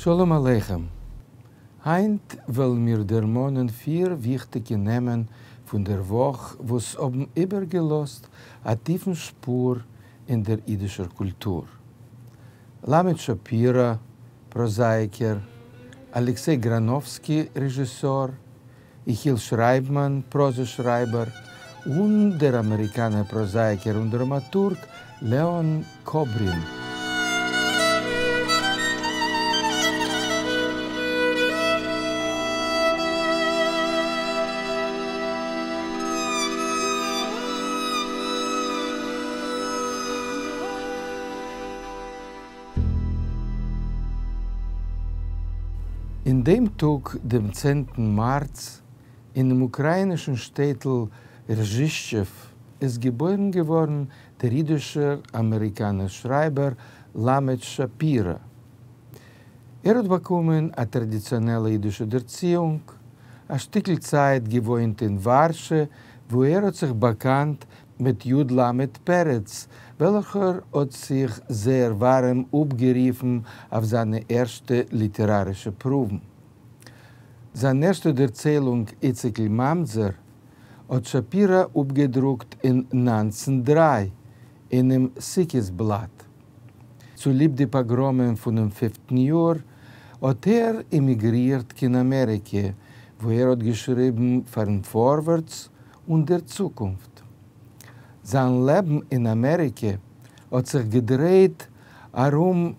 שלום עליכם! היינט וועלן מיר דערמאנען פיר וויכטיגע נעמען פון דער וואך וואס האבן איבערגעלאזט א טיפן שפור אין דער אידישער קולטור. למד שפירא, פראזאייקער, אלעקסיי גראנאווסקי, רעזשיסאר, יחיאל שרייבמאן, פראזע-שרייבער, און דער אמעריקאנער פראזאייקער און דראמאטורג לעאן קאברין. אין דעם טאג, דעם צענטן מארץ, אינעם אוקראינישן שטעטל רזשישטשעוו איז געבוירן געווארן דער אידישער אמעריקאנער שרייבער למד שפירא. ער האט באקומען א טראדיציאנעלע אידישע דערציאונג, א שטיקל צייט געוואוינט אין ווארשע וואו ער האט זיך באקאנט מיט י ל פרץ, וועלכער האט זיך זייער ווארעם אפגערופן אויף זיינע ערשטע ליטערארישע פרואוון. זיין ערשטע דערציילונג איציקל ממזר האט שפירא אפגעדרוקט אין 1903 אינעם סוכות בלאט. צוליב די פאגראמען פונעם פיפטן יאר האט ער עמיגרירט קיין אמעריקע וואו ער האט געשריבן פארן פארווערטס און דער צוקונפט. זיין לעבן אין אמעריקע האט זיך געדרייט ארום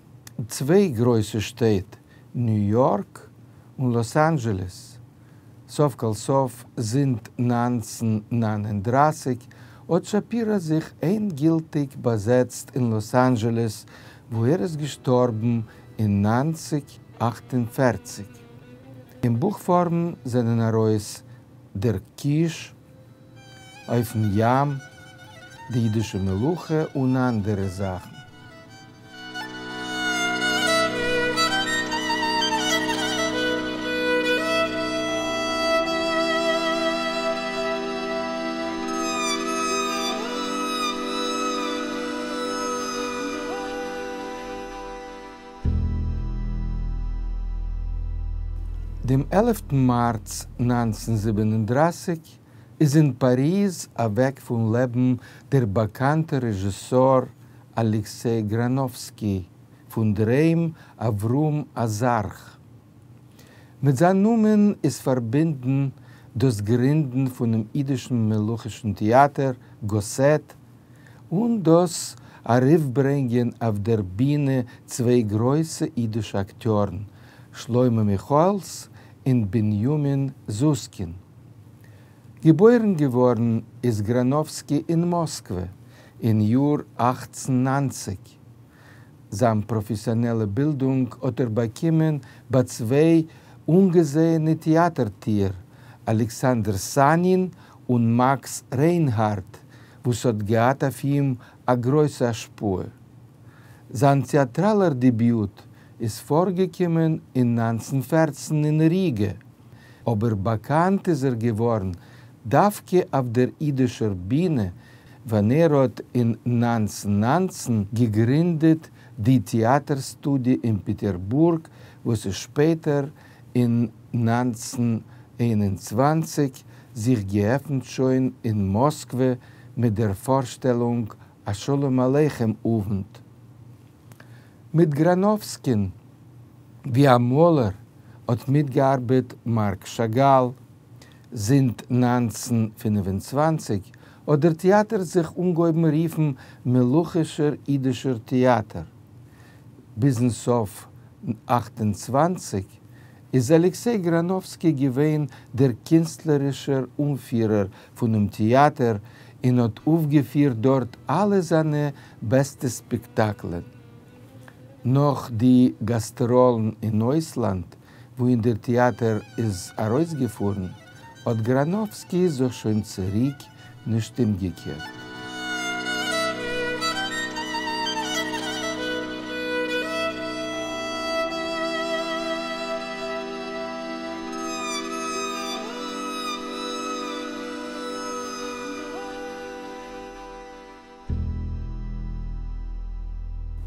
צוויי גרויסע שטעט, ניו יארק און לאס אנדזשעלעס. סוף כל סוף, זינט 1939 האט שפירא זיך ענדגילטיג באזעצט אין לאס אנדזשעלעס, וואו ער איז געשטארבן אין 1948. אין בוך פארם זענען ארויס דער קיש, אויפן ים, די אידישע מלוכה און אנדערע זאכן. דעם עלפטן מארץ 1937 איז אין פאריז אוועק פון לעבן דער באקאנטער רעזשיסאר אלעקסיי גראנאווסקי, פון דער היים אברהם אזרח. מיט זיין נאמען איז פארבינדן דאס גרינדן פונעם אידישן מלוכישן טעאטער גאסעט, און דאס ארויפברענגען אויף דער בינע צוויי גרויסע אידישע אקטיארן, שלמה מיכאעלס און בנימין זוסקין. געבוירן געווארן איז גראנאווסקי אין מאסקווע אין יאר 1890. זיין פראפעסיאנעלע בילדונג האט ער באקומען ביי צוויי אנגעזעענע טעאטער-טוער, אלעקסאנדער סאנין און מאקס ריינהארד, וואס האט געהאט אויף אים א גרויסע השפעה. זיין טעאטראלער דעביוט איז פארגעקומען אין 1914 אין ריגע, אבער באקאנט איז ער געווארן דווקא אויף דער אידישער בינע, ווען ער האט אין 1919 געגרינדעט די טעאטער סטודיע אין פעטערבורג, וואס איז שפעטער אין 1921 זיך געעפנט שוין אין מאסקווע מיט דער פארשטעלונג א שלום עליכם אוונט. מיט גראנאווסקין ווי א מאלער האט מיטגעארבעט מארק שאגאל. זינט 1925 האט דער טעאטער זיך אנגעהויבן רופן מלוכישער אידישער טעאטער. ביזן סוף 28 איז אלעקסיי גראנאווסקי געווען דער קינסטלערישער אנפירער פונעם טעאטער און האט אויפגעפירט דארט אלע זיינע בעסטע ספעקטאקלען. נאך די גאסטראלן אין אויסלאנד, וואוהין דער טעאטער איז ארויסגעפארן, האט גראנאווסקי זיך שוין צוריק נישט אומגעקערט.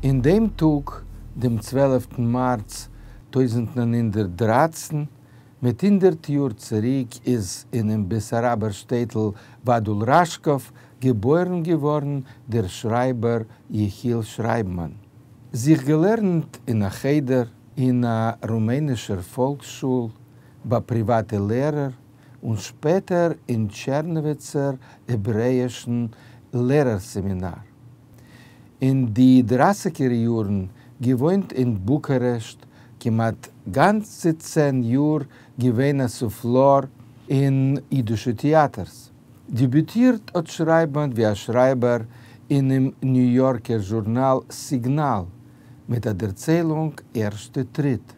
אין דעם טאג, דעם צוועלפטן מארץ 1913, מיט 100 יאר צוריק איז אינעם בעסאראבער שטעטל וואדול ראשקאוו געבוירן געווארן דער שרייבער יחיאל שרייבמאן. זיך געלערנט אין א חדר, אין א רומענישער פאלקס-שול, ביי פריוואטע לערער, און שפעטער אין טשערנאוויצער העברעאישן לערער-סעמינאר. אין די דרייסיגער יארן געוואוינט אין בוקארעשט, כמעט גאנצע 10 יאר געווען א סופלאר אין אידישע טעאטערס. דעביוטירט האט שרייבמאן ווי א שרייבער אינעם ניו יארקער זשורנאל סיגנאל מיט א דערציילונג ערשטע טריט.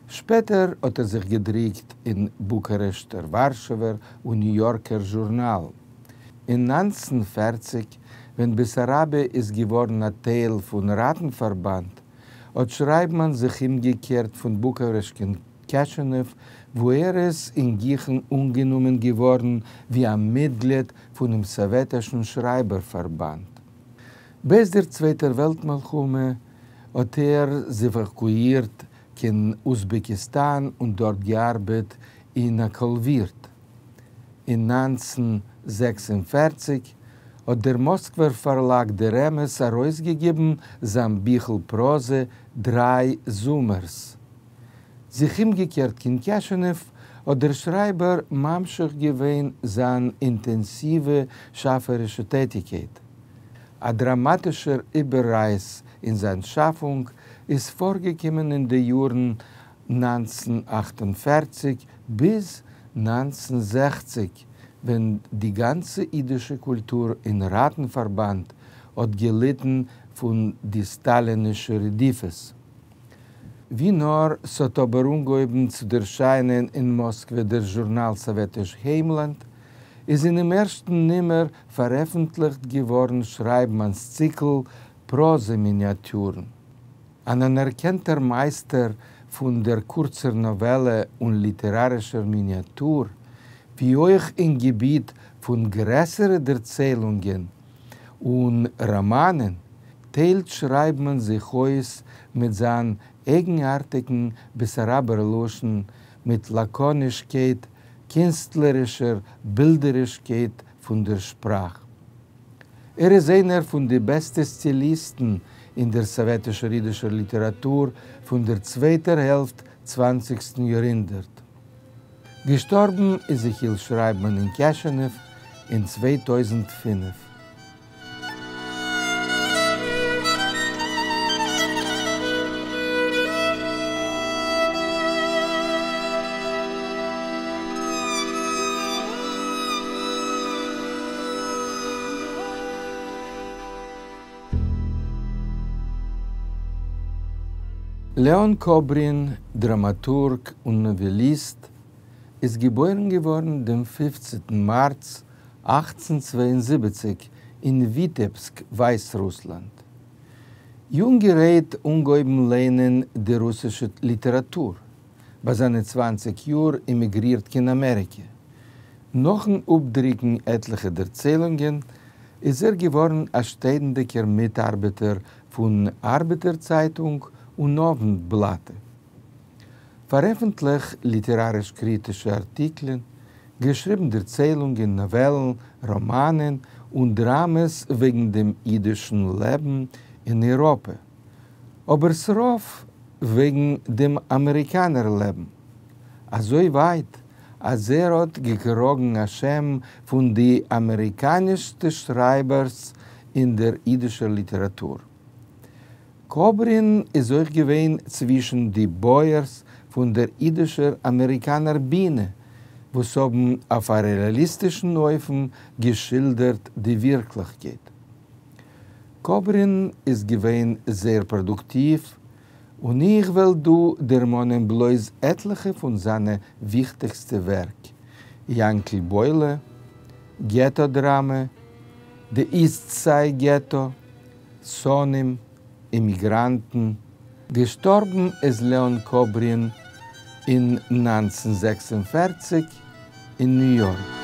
שפעטער האט ער זיך געדריקט אין בוקארעשטער, ווארשעווער און ניו יארקער זשורנאלן. אין 1940, ווען בעסאראביע איז געווארן א טייל פון ראטן-פארבאנד, האט שרייבמאן זיך אומגעקערט פון בוקארעשט קיין קעשענעוו, וואו ער איז אין גיכן אנגענומען געווארן ווי א מיטגליד פונעם סאוועטישן שרייבער-פארבאנד. בעת דער צווייטער וועלט-מלחמה האט ער זיך עוואקואירט קיין אוזבעקיסטאן און דארט געארבעט אין א קאלווירט. אין 1946 האט דער מאסקווער פארלאג דער אמת ארויסגעגעבן זיין ביכל פראזע דריי זומערס. זיך אומגעקערט קיין קעשענעוו האט דער שרייבער ממשיך געווען זיין אינטענסיווע שאפערישע טעטיגקייט. א דראמאטישער איבעררייס אין זיין שאפונג איז פארגעקומען אין די יארן 1948 ביז 1960, ווען די גאנצע אידישע קולטור אין ראטן-פארבאנד האט געליטן פון די סטאלינישע רדיפות. ווי נאר ס'האט אבער אנגעהויבן צו דערשיינען אין מאסקווע דער זשורנאל סאוועטיש היימלאנד, איז אינעם ערשטן נומער פארעפנטליכט געווארן שרייבמאן'ס ציקל פראזע-מיניאטורן. אן אנערקענטער מייסטער פון דער קורצער נאוועלע און ליטערארישער מיניאטור, ווי אויך אין געביט פון גרעסערע דערציילונגען און ראמאנען, טיילט שרייבמאן זיך אויס מיט זיין אייגנארטיגן בעסאראבער לשון, מיט לאקאנישקייט, קינסטלערישער בילדערישקייט פון דער שפראך. ער איז איינער פון די בעסטע סטיליסטן אין דער סאוועטישער אידישער ליטעראטור פון דער צווייטער העלפט צוואנציגסטן יארהונדערט. געשטארבן איז יחיאל שרייבמאן אין קעשענעוו אין 2005. לעאן קאברין, דראמאטורג און נאוועליסט, איז געבוירן געווארן דעם 15טן מארץ 1872 אין וויטעבסק, ווייסרוסלאנד. יונגערהייט אנגעהויבן ליינען די רוסישע ליטעראטור. ביי זיינע 20 יאר עמיגרירט קיין אמעריקע. נאכן אפדרוקן עטליכע דערציילונגען, איז ער געווארן א שטענדיגער מיטארבעטער פון ארבעטער צייטונג און אוונט-בלאטע. פארעפנטליכט ליטעראריש-קריטישע ארטיקלען, געשריבן דערציילונגען, נאוועלן, ראמאנען און דראמעס וועגן דעם אידישן לעבן אין אייראפע, אבער ס'רוב וועגן דעם אמעריקאנער לעבן. אזוי ווייט אז ער האט געקראגן א שם פון די אמעריקאנישסטע שרייבערס אין דער אידישער ליטעראטור. קאברין איז אויך געווען צווישן די בויערס פון דער אידישער אמעריקאנער בינע, וואס האבן אויף א רעאליסטישן אופן געשילדערט די ווירקליכקייט. קאברין איז געווען זייער פראדוקטיוו, און איך וועל דא דערמאנען בלויז עטליכע פון זיינע וויכטיגסטע ווערק, יאנקל בוילע, געטא דראמע, די איסט סייד געטא, שונאים, אימיגראנטן. געשטארבן איז לעאן קאברין אין 1946 אין ניו יארק.